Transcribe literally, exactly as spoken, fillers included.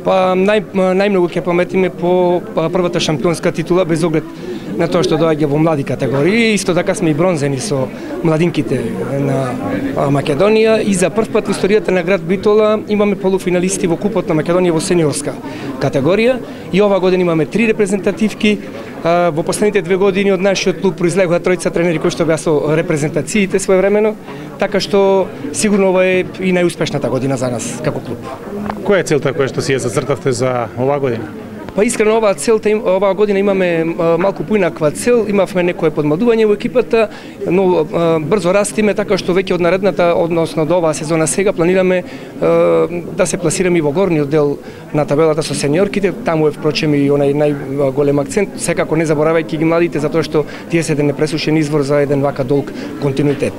Па нај најмногу ќе паметиме по првата шампионска титула без оглед на тоа што доаѓа во млади категории. Исто така сме и бронзени со младинките на Македонија и за прв пат во историјата на град Битола имаме полуфиналисти во купот на Македонија во сениорска категорија и ова година имаме три репрезентативки. Во последните две години од нашиот клуб произлегоа тројца тренери кои што беа со репрезентациите своевремено, така што сигурно ова е и најуспешната година за нас како клуб. Која е целта која што си ја зацртавте за оваа година? Па искрено оваа целта оваа година имаме малку поинаква цел, имавме некое подмладување во екипата, но брзо растиме, така што веќе од наредната, односно до оваа сезона сега планираме да се пласираме и во горниот дел на табелата со сениорките, таму е впрочем и онај најголем акцент, секако не заборавајќи ги младите затоа што тие се еден непресушен извор за еден вака долг континуитет.